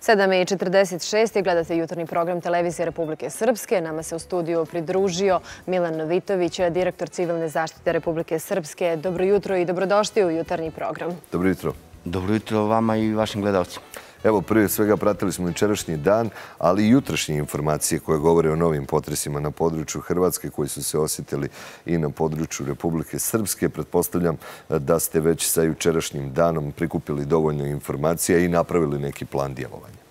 7:46 gledate jutarnji program Televizije Republike Srpske. Nama se u studiju pridružio Milan Novitović, direktor Civilne zaštite Republike Srpske. Dobro jutro i dobrodošli u jutarnji program. Dobro jutro. Dobro jutro vama i vašim gledalcima. Evo, prije svega pratili smo jučerašnji dan, ali i jutrašnje informacije koje govore o novim potresima na području Hrvatske koji su se osjetili i na području Republike Srpske. Pretpostavljam da ste već sa jučerašnjim danom prikupili dovoljno informacija i napravili neki plan djelovanja.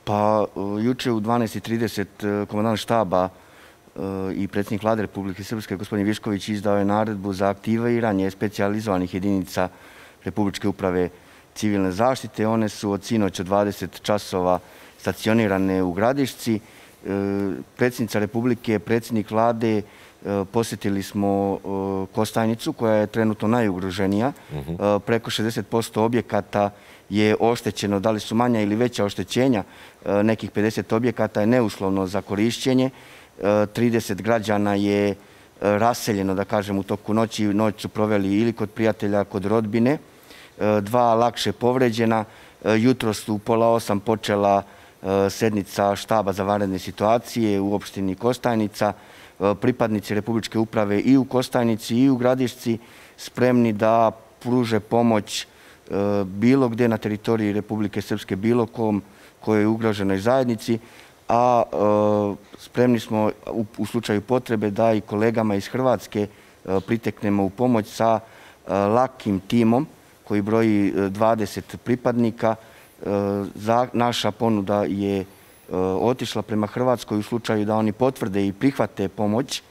Pa, juče u 12:30 komandant štaba i predsjednik Vlade Republike Srpske, gospodin Višković, izdao je naredbu za aktiviranje specijalizovanih jedinica Republičke uprave civilne zaštite. One su od sinoć od 20 časova stacionirane u Gradišci. Predsjednica Republike, predsjednik Vlade, posjetili smo Kostajnicu koja je trenutno najugroženija. Preko 60% objekata je oštećeno, da li su manja ili veća oštećenja. Nekih 50 objekata je neuslovno za korišćenje. 30 građana je raseljeno, da kažem, u toku noći. Noć su proveli ili kod prijatelja, kod rodbine. 2 lakše povređena. Jutro su u 7:30 počela sednica štaba za vanredne situacije u opštini Kostajnica. Pripadnici Republičke uprave i u Kostajnici i u Gradišci spremni da pruže pomoć bilo gdje na teritoriji Republike Srpske, bilo kojoj ugroženoj zajednici, a spremni smo u slučaju potrebe da i kolegama iz Hrvatske priteknemo u pomoć sa lakim timom koji broji 20 pripadnika. Naša ponuda je otišla prema Hrvatskoj u slučaju da oni potvrde i prihvate pomoć.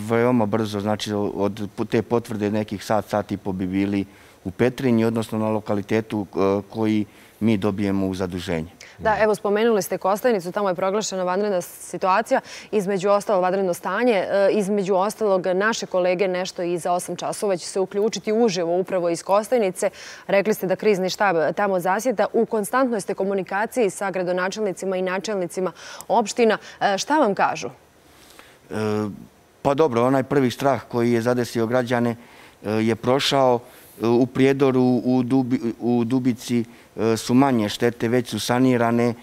Veoma brzo, znači od te potvrde nekih sat i po bi bili u Petrinji, odnosno na lokalitetu koji mi dobijemo u zaduženje. Da, evo, spomenuli ste Kostajnicu, tamo je proglašena vanredna situacija, između ostalog vanredno stanje, između ostalog naše kolege nešto i za 8 časova će se uključiti uživo upravo iz Kostajnice. Rekli ste da krizni štab tamo zasjeda. U konstantnoj ste komunikaciji sa gradonačelnicima i načelnicima opština. Šta vam kažu? Pa dobro, onaj prvi strah koji je zadesio građane je prošao. U Prijedoru, u Dubici su manje štete, već su sanirane.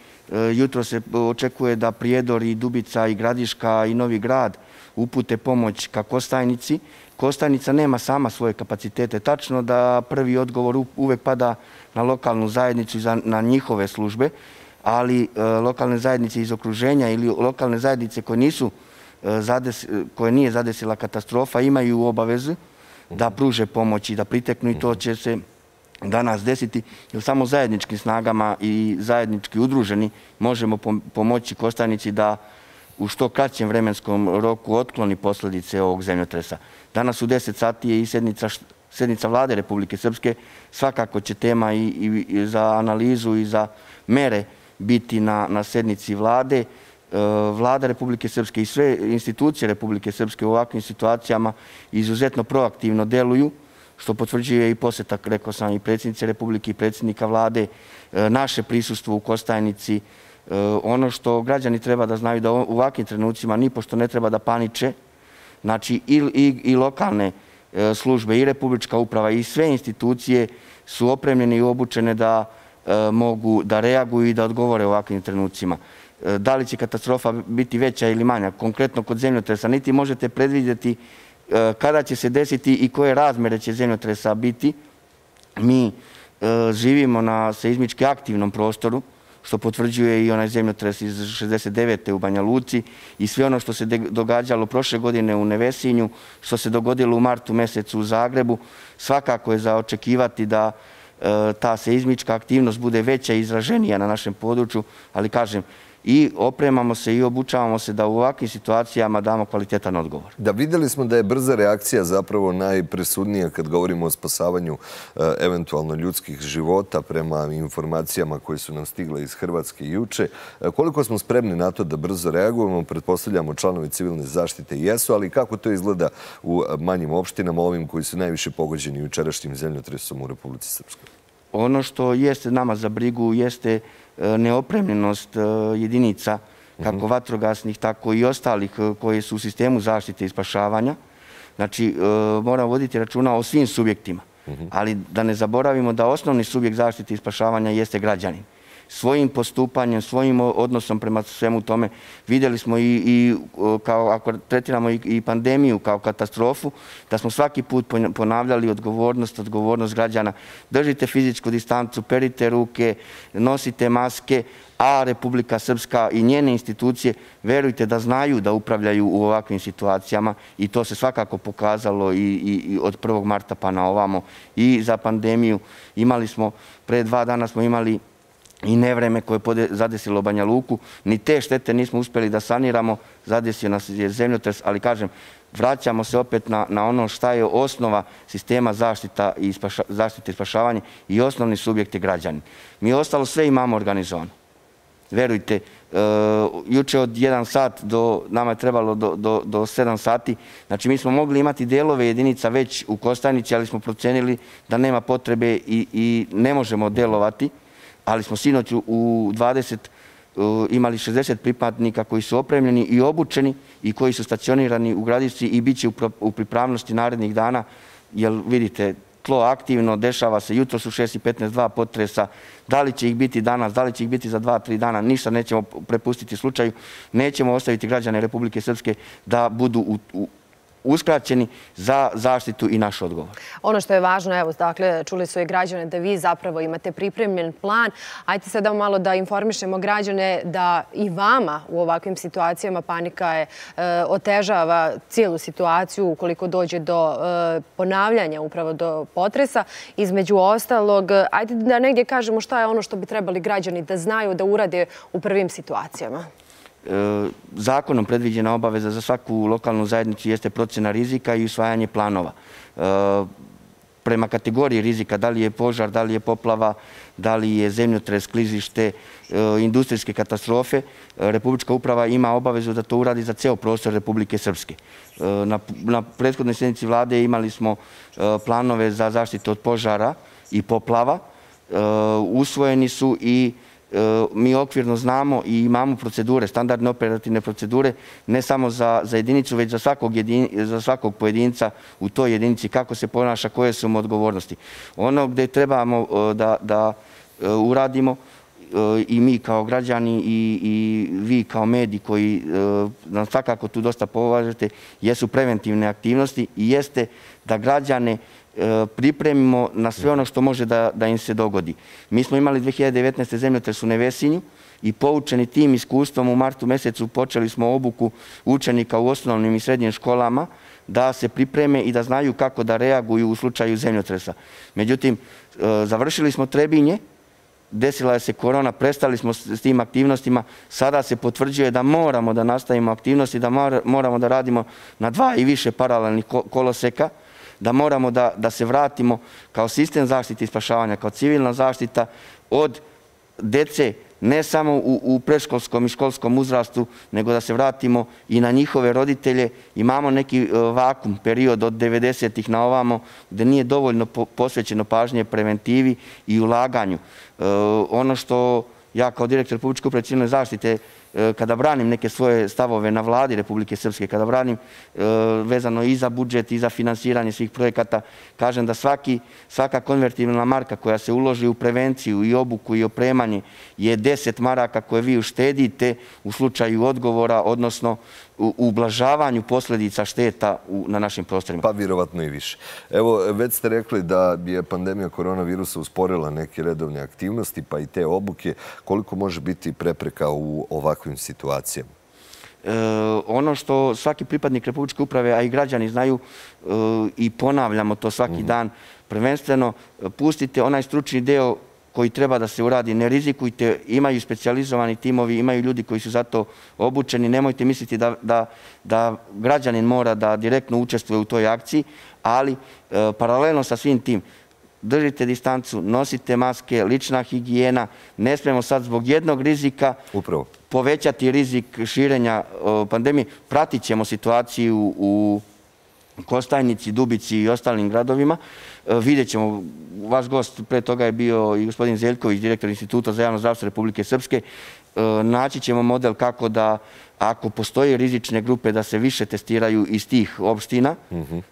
Jutro se očekuje da Prijedor i Dubica i Gradiška i Novi Grad upute pomoć ka Kostajnici. Kostajnica nema sama svoje kapacitete. Tačno da prvi odgovor uvek pada na lokalnu zajednicu i na njihove službe, ali lokalne zajednice iz okruženja ili lokalne zajednice koje nije zadesila katastrofa imaju obavezu da pruže pomoć i da priteknu, i to će se danas desiti, jer samo zajedničkim snagama i zajednički udruženi možemo pomoći Kostajnici da u što kraćem vremenskom roku otkloni posljedice ovog zemljotresa. Danas u 10 sati je i sednica Vlade Republike Srpske. Svakako će tema i za analizu i za mere biti na sednici Vlade. Vlada Republike Srpske i sve institucije Republike Srpske u ovakvim situacijama izuzetno proaktivno deluju, što potvrđuje i posjetak, rekao sam, i predsjednice Republike i predsjednika Vlade, naše prisustvo u Kostajnici. Ono što građani treba da znaju da u ovakvim trenucima nipošto ne treba da paniče. Znači i lokalne službe i Republička uprava i sve institucije su opremljene i obučene da mogu da reaguju i da odgovore u ovakvim trenucima. Da li će katastrofa biti veća ili manja, konkretno kod zemljotresa, niti možete predvidjeti kada će se desiti i koje razmere će zemljotresa biti. Mi živimo na seizmički aktivnom prostoru, što potvrđuje i onaj zemljotres iz 69. u Banja Luci i sve ono što se događalo prošle godine u Nevesinju, što se dogodilo u martu mjesecu u Zagrebu. Svakako je za očekivati da ta seizmička aktivnost bude veća i izraženija na našem području, ali kažem, i opremamo se i obučavamo se da u ovakvim situacijama damo kvalitetan odgovor. Da, vidjeli smo da je brza reakcija zapravo najpresudnija kad govorimo o spasavanju eventualno ljudskih života prema informacijama koje su nam stigle iz Hrvatske juče. Koliko smo spremni na to da brzo reagujemo, pretpostavljamo članovi civilne zaštite jesu, ali kako to izgleda u manjim opštinama, ovim koji su najviše pogođeni jučerašnjim zemljotresom u Republici Srpskoj? Ono što jeste nama za brigu jeste neopremljenost jedinica, kako vatrogasnih, tako i ostalih koje su u sistemu zaštite i spašavanja. Znači, moramo voditi računa o svim subjektima, ali da ne zaboravimo da osnovni subjekt zaštite i spašavanja jeste građanin. svojim postupanjem, svojim odnosom prema svemu tome. Vidjeli smo i kao ako tretiramo i pandemiju kao katastrofu, da smo svaki put ponavljali odgovornost građana. Držite fizičku distancu, perite ruke, nosite maske, a Republika Srpska i njene institucije, verujte da znaju da upravljaju u ovakvim situacijama i to se svakako pokazalo i od 1. marta pa na ovamo i za pandemiju. Imali smo, pre 2 dana smo imali i nevreme koje je zadesilo Banja Luku. Ni te štete nismo uspjeli da saniramo, zadesio nas je zemljotres, ali kažem, vraćamo se opet na ono šta je osnova sistema zaštite i spašavanja i osnovni subjekti građani. Mi ostalo sve imamo organizovano. Verujte, juče od 1 sat nama je trebalo do 7 sati. Znači, mi smo mogli imati delove jedinica već u Kostajnici, ali smo procenili da nema potrebe i ne možemo delovati. Ali smo sinoć u 20 imali 60 pripadnika koji su opremljeni i obučeni i koji su stacionirani u Gradišci i bit će u pripravnosti narednih dana, jer vidite, tlo aktivno, dešava se, jutro su 6:15 2 potresa, da li će ih biti danas, da li će ih biti za 2-3 dana, ništa nećemo prepustiti slučaju, nećemo ostaviti građane Republike Srpske da budu uskraćeni za zaštitu i naš odgovor. Ono što je važno, evo, dakle, čuli su i građane da vi zapravo imate pripremljen plan. Ajde sada malo da informišemo građane da i vama u ovakvim situacijama panika otežava cijelu situaciju ukoliko dođe do ponavljanja, upravo do potresa. Između ostalog, ajde da negdje kažemo šta je ono što bi trebali građani da znaju da urade u prvim situacijama. Zakonom predviđena obaveza za svaku lokalnu zajednicu jeste procjena rizika i usvajanje planova. Prema kategoriji rizika, da li je požar, da li je poplava, da li je zemljotres, klizište, industrijske katastrofe, Republička uprava ima obavezu da to uradi za ceo prostor Republike Srpske. Na prethodnoj sjednici vlade imali smo planove za zaštitu od požara i poplava. Usvojeni su i mi okvirno znamo i imamo procedure, standardne operativne procedure, ne samo za jedinicu, već za svakog pojedinca u toj jedinici, kako se ponaša, koje su mu odgovornosti. Ono gdje trebamo da uradimo i mi kao građani i vi kao mediji koji nam svakako tu dosta považete, jesu preventivne aktivnosti i jeste da građane pripremimo na sve ono što može da im se dogodi. Mi smo imali 2019. zemljotres u Nevesinju i poučeni tim iskustvom u martu mjesecu počeli smo obuku učenika u osnovnim i srednjim školama da se pripreme i da znaju kako da reaguju u slučaju zemljotresa. Međutim, završili smo Trebinje, desila je se korona, prestali smo s tim aktivnostima, sada se potvrđuje da moramo da nastavimo aktivnosti, da moramo da radimo na 2 i više paralelnih koloseka, da moramo da se vratimo kao sistem zaštite i spašavanja, kao civilna zaštita od dece, ne samo u predškolskom i školskom uzrastu, nego da se vratimo i na njihove roditelje. Imamo neki vakum, period od 90-ih na ovamo, gdje nije dovoljno posvećeno pažnje preventivi i ulaganju. Ono što ja kao direktor Republičke uprave civilne zaštite, kada branim neke svoje stavove na vladi Republike Srpske, kada branim vezano i za budžet i za finansiranje svih projekata, kažem da svaka konvertibilna marka koja se uloži u prevenciju i obuku i opremanje je 10 maraka koje vi uštedite u slučaju odgovora, odnosno u ublažavanju posljedica šteta na našim prostorima. Pa vjerovatno i više. Evo, već ste rekli da je pandemija koronavirusa usporila neke redovne aktivnosti, pa i te obuke. Koliko može biti prepreka u ovakvim situacijama? Ono što svaki pripadnik Republičke uprave, a i građani znaju i ponavljamo to svaki dan, prvenstveno pustite onaj stručni deo koji treba da se uradi, ne rizikujte, imaju specijalizovani timovi, imaju ljudi koji su za to obučeni, nemojte misliti da građanin mora da direktno učestvuje u toj akciji, ali paralelno sa svim tim, držite distancu, nosite maske, lična higijena, ne smemo sad zbog jednog rizika povećati rizik širenja pandemije. Pratit ćemo situaciju u Kostajnici, Dubici i ostalim gradovima. Vidjet ćemo, vaš gost pre toga je bio i gospodin Zeljković, direktor Instituta za javno zdravstvo Republike Srpske. Naći ćemo model kako da, ako postoje rizične grupe, da se više testiraju iz tih opština,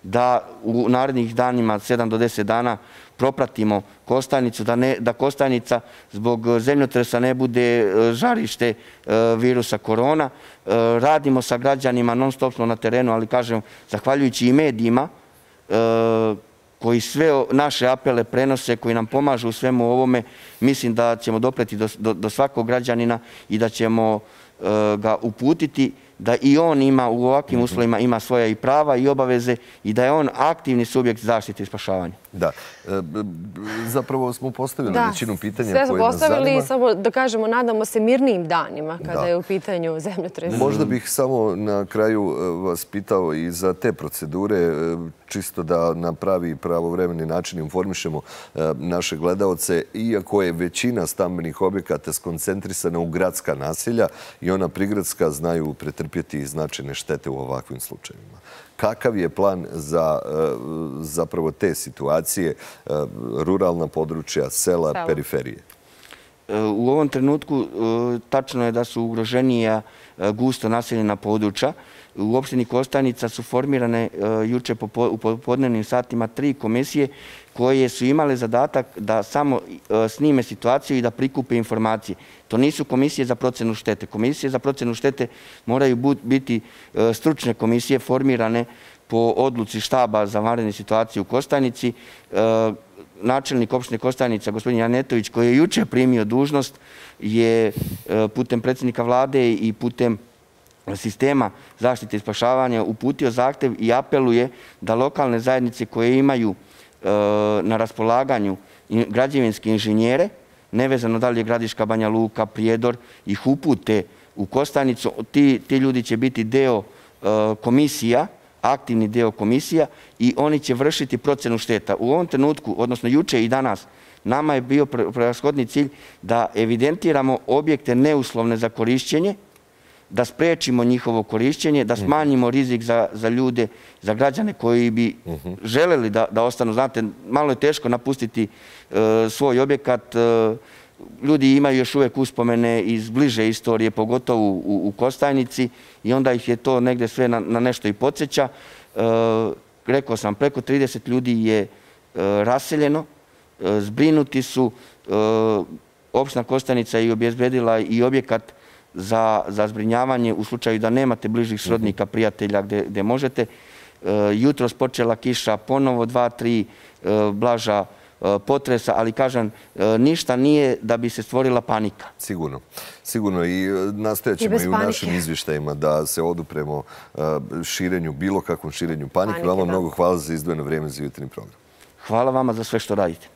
da u narednih danima, 7 do 10 dana, propratimo Kostajnicu, da Kostajnica zbog zemljotresa ne bude žarište virusa korona. Radimo sa građanima, non stop smo na terenu, ali kažem, zahvaljujući i medijima koji sve naše apele prenose, koji nam pomažu u svemu ovome, mislim da ćemo dopreti do svakog građanina i da ćemo ga uputiti da i on ima u ovakvim uslovima ima svoja i prava i obaveze i da je on aktivni subjekt zaštite i spašavanja. Da. Zapravo smo postavili većinu pitanja koje nas zanima. Sve smo postavili i samo da kažemo, nadamo se mirnijim danima kada je u pitanju zemljotres. Možda bih samo na kraju vas pitao i za te procedure, čisto da na pravi i pravovremeni način informišemo naše gledaoce, iako je većina stambenih objekata skoncentrisana u gradska naselja i ona prigradska znaju pretrpjeti značajne štete u ovakvim slučajevima. Kakav je plan za zapravo te situacije, ruralna područja, sela, periferije? U ovom trenutku tačno je da su ugroženija gusto naseljena područja. U opštini Kostajnica su formirane juče u popodnevnim satima 3 komisije koje su imale zadatak da samo snime situaciju i da prikupe informacije. To nisu komisije za procenu štete. Komisije za procenu štete moraju biti stručne komisije formirane po odluci štaba za vanredne situacije u Kostajnici. Načelnik opštine Kostajnica, gospodin Janetović, koji je juče primio dužnost, je putem predsjednika vlade i putem sistema zaštite i spašavanja uputio zahtev i apeluje da lokalne zajednice koje imaju na raspolaganju građevinske inženjere, nevezano da li je Gradiška, Banja Luka, Prijedor, ih upute u Kostajnicu. Ti ljudi će biti deo komisija, aktivni deo komisija i oni će vršiti procenu šteta. U ovom trenutku, odnosno juče i danas, nama je bio prevashodni cilj da evidentiramo objekte neuslovne za korišćenje, da sprečimo njihovo korišćenje, da smanjimo rizik za ljude, za građane koji bi želeli da ostanu. Znate, malo je teško napustiti svoj objekat. Ljudi imaju još uvek uspomene iz bliže istorije, pogotovo u Kostajnici, i onda ih je to negde sve na nešto i podsjeća. Rekao sam, preko 30 ljudi je raseljeno, zbrinuti su. Opština Kostajnica je obezbedila i objekat za zbrinjavanje u slučaju da nemate bližih srodnika, prijatelja gde možete. Jutros počela kiša, ponovo 2-3 blaža potresa, ali kažem, ništa nije da bi se stvorila panika. Sigurno. Sigurno i nastojat ćemo i u našim izvještajima da se odupremo širenju, bilo kakvom širenju panike. Vama mnogo hvala za izdvojeno vrijeme za jutarnji program. Hvala vama za sve što radite.